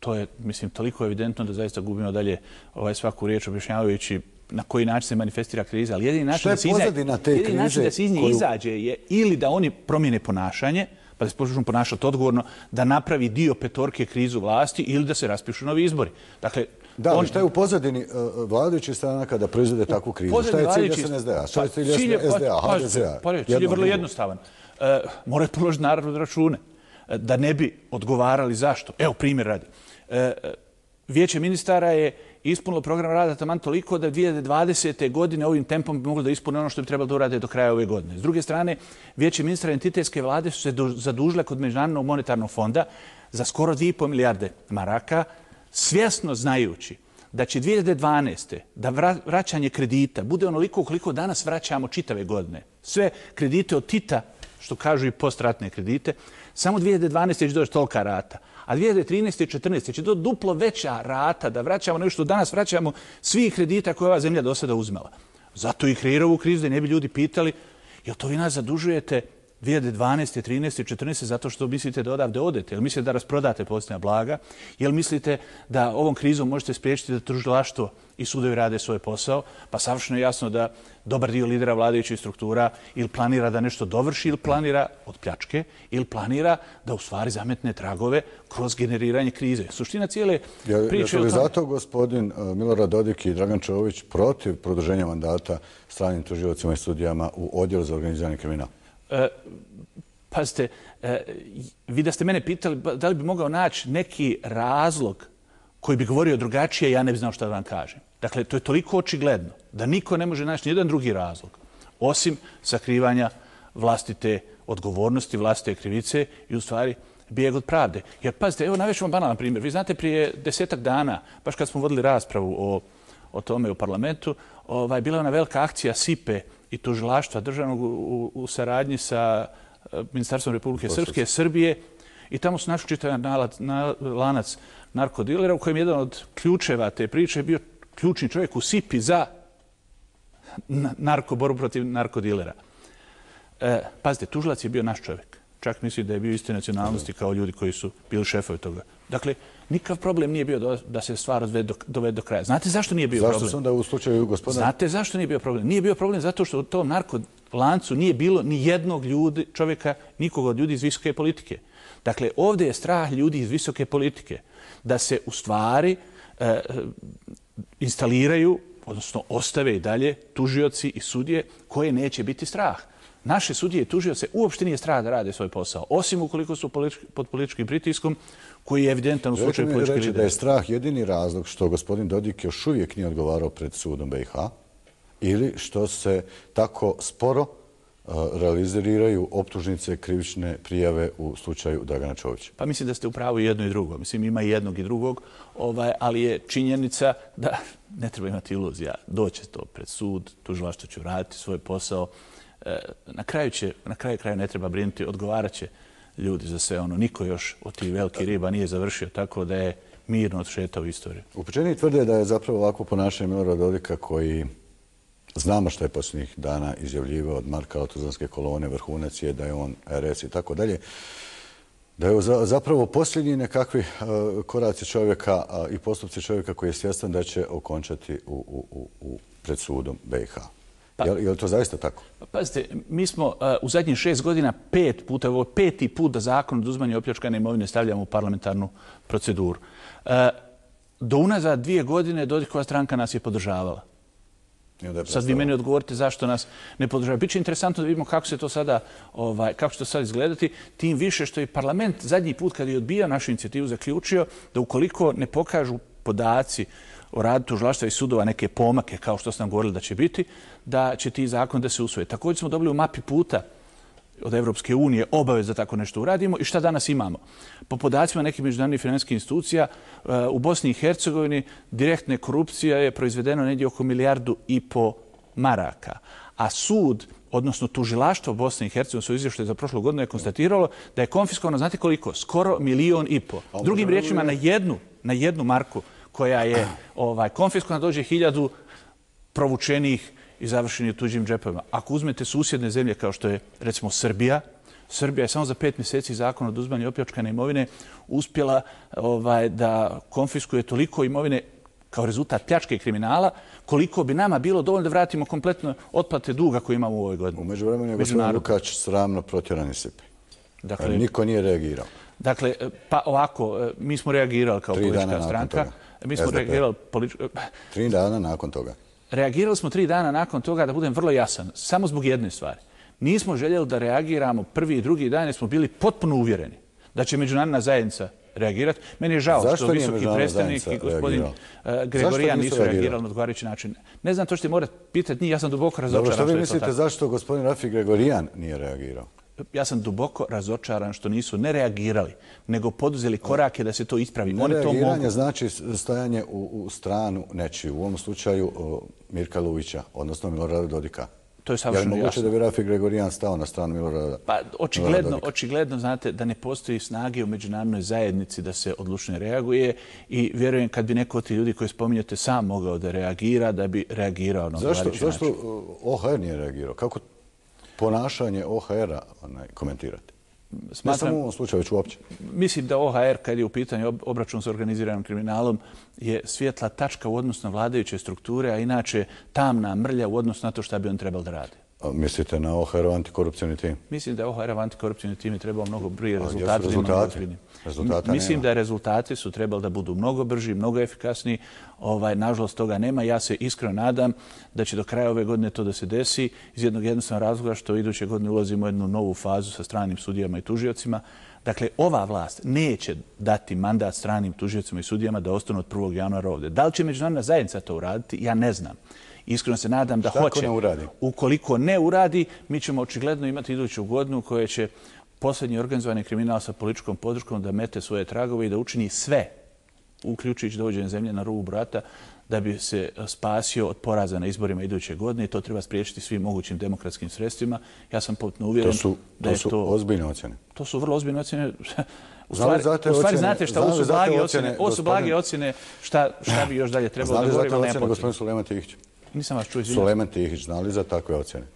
to je, mislim, toliko evidentno da zaista gubimo dalje svaku riječ objašnjavajući na koji način se manifestira kriza. Ali jedini način da se iz nje izađe je ili da oni promijene ponašanje, pa da se počnu ponašati odgovorno, da napravi dio petorke krizu vlasti ili da se raspišu novi izbori. Dakle, da, šta je u pozadini vladajućih stranaka da proizvode takvu krizu? Šta je cilj SNSD-a? Šta je cilj SDA, HDZ-a? Cilj je vrlo jednostavan. Moraju položiti narod račune. Da ne bi odgovarali zašto. Evo, primjer radi. Vijeće ministara je ispunilo program rada taman toliko da 2020. godine ovim tempom bi moglo da ispune ono što bi trebalo da urade do kraja ove godine. S druge strane, Vijeće ministara entitetske vlade su se zadužile kod Međunarodnog monetarnog fonda za skoro 2,5 milijarde maraka, svjesno znajući da će 2012. da vraćanje kredita bude onoliko koliko danas vraćamo čitave godine. Sve kredite od Tita, što kažu i postratne kredite, samo 2012. će doći tolika rata. A 2013. i 2014. će to duplo veća rata da vraćamo nešto što danas vraćamo svih kredita koje ova zemlja do sada uzmela. Zato i kreira ovu krizu da ne bi ljudi pitali jel to vi nas zadužujete 2012. 13. 14. zato što mislite da odavde odete? Jel mislite da rasprodate posljednja blaga? Jel mislite da ovom krizom možete spriječiti da tužilaštvo i sudovi rade svoj posao? Pa savršeno je jasno da dobar dio lidera vladajućih struktura ili planira da nešto dovrši ili planira od pljačke ili planira da u stvari zametne tragove kroz generiranje krize. Suština cijele priče... Je li zato gospodin Milorad Dodik i Dragan Čović protiv produženja mandata stranim tužiocima i sudijama u odjelu za organizirani kriminal? Pazite, vi da ste mene pitali da li bi mogao naći neki razlog koji bi govorio drugačije, ja ne bi znao šta da vam kažem. Dakle, to je toliko očigledno da niko ne može naći nijedan drugi razlog osim sakrivanja vlastite odgovornosti, vlastite krivice i u stvari bijeg od pravde. Jer pazite, evo navešću vam banalan primjer. Vi znate, prije 10-ak dana, baš kad smo vodili raspravu o tome u parlamentu, bila je ona velika akcija SIPE i tužilaštva državnog u saradnji sa Ministarstvom Republike Srpske, Srbije, i tamo su našli čitav lanac narkodilera u kojem jedan od ključeva te priče bio ključni čovjek u SIPI za borbu protiv narkodilera. Pazite, tužilac je bio naš čovjek. Čak misli da je bio iste nacionalnosti kao ljudi koji su bili šefovi toga. Dakle, nikakav problem nije bio da se stvar dovede do kraja. Znate zašto nije bio problem? Zašto su onda u slučaju gospodina? Znate zašto nije bio problem? Nije bio problem zato što u tom narkolancu nije bilo ni jednog čovjeka, nikoga od ljudi iz visoke politike. Dakle, ovdje je strah ljudi iz visoke politike da se u stvari instaliraju, odnosno ostave i dalje tužioci i sudije koje neće biti strah. Naše sudije i tužioce uopšte nije strah da rade svoj posao, osim ukoliko su pod političkim pritiskom koji je evidentan u slučaju političkih lidera. Reći da je strah jedini razlog što gospodin Dodik još uvijek nije odgovarao pred sudom BiH ili što se tako sporo realiziraju optužnice, krivične prijave u slučaju Dragana Čovića? Pa mislim da ste u pravu i jedno i drugo. Mislim, ima i jednog i drugog, ali je činjenica da ne treba imati iluzija. Doće to pred sud, tužilaštvo će raditi svoj posao. Na kraju kraja ne treba brinuti, odgovarat će ljudi za sve ono. Niko još od tih velikih riba nije završio, tako da je mirno odšetao u istoriju. Upućeni tvrde da je zapravo ovako ponašanje Milorada Dodika, koji znamo što je posljednjih dana izjavljivao od Marka Otuzanske kolone, vrhunac je da je on RS i tako dalje, da je zapravo posljednji nekakvi koraci čovjeka i postupci čovjeka koji je svjestan da će okončati pred sudom BiH. Je li to zaista tako? Pazite, mi smo u zadnjih 6 godina 5 puta, ovo je 5. put da zakon o oduzimanju opljačkane imovine stavljamo u parlamentarnu proceduru. Do unazad 2 godine Dodikova stranka nas je podržavala. Sad vi meni odgovorite zašto nas ne podržava. Biće interesantno da vidimo kako će to sada izgledati, tim više što je parlament zadnji put kad je odbijao našu inicijativu zaključio da ukoliko ne pokažu podaci o radu tužilaštva i sudova neke pomake, kao što ste nam govorili da će biti, da će ti zakon da se usvoje. Također smo dobili u mapi puta od Evropske unije obavez da tako nešto uradimo. I šta danas imamo? Po podacima nekih međunarodnih financijskih institucija u Bosni i Hercegovini direktne korupcija je proizvedeno negdje oko 1,5 milijardu maraka. A sud, odnosno tužilaštvo Bosne i Hercegovine, su izvještaju za prošlu godinu je konstatiralo da je konfiskovano, znate koliko? Skoro 1,5 miliona. Drugim riječima, na jednu marku koja je konfiskovana dođe 1000 provučenih i završeni u tuđim džepovima. Ako uzmete susjedne zemlje kao što je recimo Srbija, Srbija je samo za 5 mjeseci zakon o oduzimanju opljačkane imovine uspjela da konfiskuje toliko imovine kao rezultat pljačke i kriminala, koliko bi nama bilo dovoljno da vratimo kompletno otplate duga koje imamo u ovoj godini. U međuvremenu je gospodin Lukač sramno protjeran iz SIPA. Dakle, niko nije reagirao. Dakle, pa ovako, mi smo reagirali kao politička stranka. Mi smo reagirali 3 dana nakon toga. Reagirali smo 3 dana nakon toga, da budem vrlo jasan, samo zbog jedne stvari. Nismo željeli da reagiramo prvi i drugi dan, jer smo bili potpuno uvjereni da će međunarodna zajednica reagirati. Meni je žao što visoki predstavnik i gospodin Gregorijan nisu reagirali na odgovarajući način. Ne znam, to ćete morati pitati njih, ja sam duboko razočaran. Dobro, što vi mislite zašto gospodin Rafi Gregorijan nije reagirao? Ja sam duboko razočaran što nisu ne reagirali, nego poduzeli korake da se to ispravi. Nereagiranje znači stajanje u stranu nečiju, u ovom slučaju Mirka Luvića, odnosno Milorada Dodika. To je savršeno jasno. Je moguće da bi Rafi Gregorijan stao na stranu Milorada Dodika? Pa očigledno znate da ne postoji snage u međunarodnoj zajednici da se odlučno reaguje i vjerujem kad bi neko od tih ljudi koji spominjate sam mogao da reagira, da bi reagirao na odgovarajući način. Zašto OHR nije reagirao? Kako ponašanje OHR-a komentirate? Ne samo u ovom slučaju, već uopće. Mislim da OHR, kad je u pitanju obračun s organiziranim kriminalom, je svijetla tačka u odnosu na vladajuće strukture, a inače tamna mrlja u odnosu na to šta bi on trebalo da radi. Mislite na OHR-ov antikorupcijni tim? Mislim da je OHR-ov antikorupcijni tim je trebao mnogo brije rezultati. Mislim da rezultati su trebali da budu mnogo brži, mnogo efikasniji. Nažalost, toga nema. Ja se iskreno nadam da će do kraja ove godine to da se desi iz jednog jednostavnog razloga što iduće godine ulazimo u jednu novu fazu sa stranim sudijama i tužiocima. Dakle, ova vlast neće dati mandat stranim tužiocima i sudijama da ostanu od 1. januara ovdje. Da li će međunarodna zajednica to uraditi? Ja ne znam. Iskreno se nadam da hoće. Ukoliko ne uradi, mi ćemo očigledno imati iduću godinu u kojoj će posljednji organizovani kriminal sa političkom podrškom da mete svoje tragove i da učini sve, uključujući dovođenje zemlje na rubu brata, da bi se spasio od poraza na izborima iduće godine i to treba spriječiti svim mogućim demokratskim sredstvima. Ja sam potpuno uvjeren da je to... To su ozbiljne ocjene. To su vrlo ozbiljne ocjene. U stvari znate šta, ovo su blage ocjene. Ovo su blage ocjene šta bi još dalje trebalo da govorimo. Znali za te ocjene gospodin Sulejman Tihić? Nisam vas čuo, izvinjam. Sulejman Tihić, znali za takve ocjene?